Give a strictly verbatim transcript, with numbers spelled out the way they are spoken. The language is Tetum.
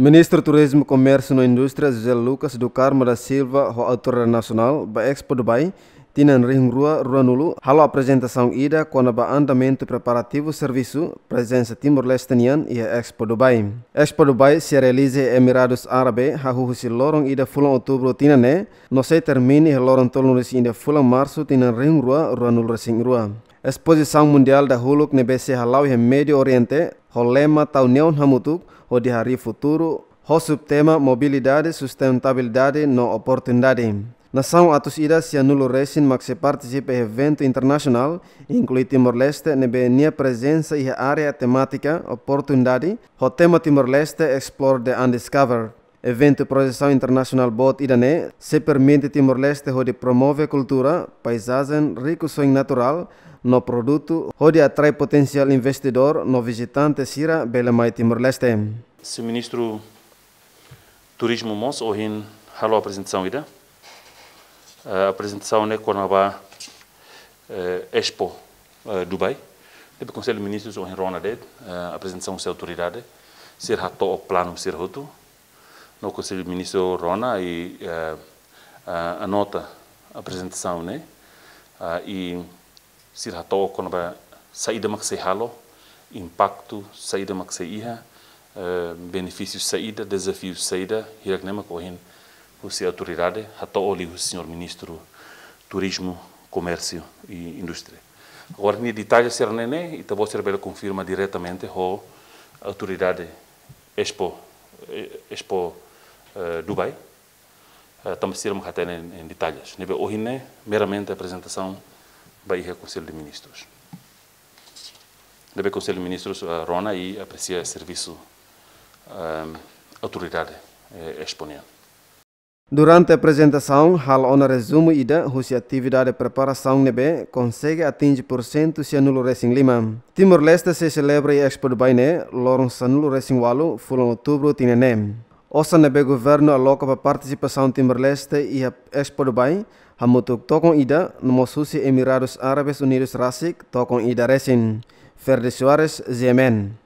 Ministru Turizmu, Komérsiu no Indústria, José Lucas do Carmo da Silva, ho autoridade nasionál ba Expo Dubai tinan rihun rua ruanulu, halo aprezentasaun ida kona-ba andamentu preparativu servisu prezensa Timor-Leste nian iha Expo Dubai. Expo Dubai sei realiza iha Emiradus Árabe hahú husi loron ida fulan Outubru tinan ne'e, no sei termina iha loron tolunulu-resin-ida fulan Marsu tinan rihun rua ruanulu-resin-rua. Espozisaun mundiál dahuluk ne'ebé sei hala'o iha Médiu Oriente, ho lema Tau Neon Hamutuk, hodi harii futuru, ho subtema Mobilidade, Sustentabilidade no Oportunidade. Nasaun atus ida sianulu-resin mak sei partisipa iha eventu internasionál, inklui Timor-Leste, ne'ebé nia prezensa iha área temátika Oportunidade, ho tema Timor-Leste Explore the Undiscovered. Eventu projesaun internasionál boot ida-ne'e sei permite Timor-Leste hodi promove kultura, paizajen, rikusoin naturál no produtu, hodi atrai potensiál investidór no vizitante sira bele mai Timor-Leste. Señór Ministru Turizmu mós ohin halo aprezentasaun ida. Eh, aprezentasaun ne'e kona-ba, eh, Expo, eh, Dubai. Ne'ebé Konsellu Ministrus ohin rona de'it, eh, aprezentasaun husi autoridade. Sira hato'o planu sira hotu. No Konsellu Ministru rona i, eh, eh, anota aprezentasaun ne'e. Ah, i sira hato'o kona-ba saida mak sei halo, impaktu saida mak sei iha, eh, benefísiu saida, dezafiu saida, hirak-ne'e mak ohin husi autoridade hato'o liu husi Señór Ministru Turizmu, Komérsiu i Indústria. Agora, nia detalle sira-ne'e ne'e, ita-boot sira bele konfirma diretamente ho autoridade Expo, eh, Expo, eh, Dubai. Eh, tanba sira mak hatene em, em detalles. Ne'ebé ohin ne'e meramente aprezentasaun ba iha Konsellu de Ministrus. Ne'ebé Konsellu de Ministrus, eh, rona i apresia servisu, ehm, autoridade, eh, Expo nian. Durante aprezentasaun, halo ona rezumu ida husi atividade preparasaun ne'ebé konsege atinje pursentu sianulu-resin-lima. Timor-Leste sei selebra iha Expo Dubai ne'e loron sanulu-resin-ualu fulan Outubru tinan ne'e. Osan ne'ebé governu aloka ba partisipasaun Timor-Leste iha Expo Dubai, hamutuk tokon ida, no mós husi Emiradus Árabes Unidus rasik tokon ida resin. Ferdi Soares, G M N.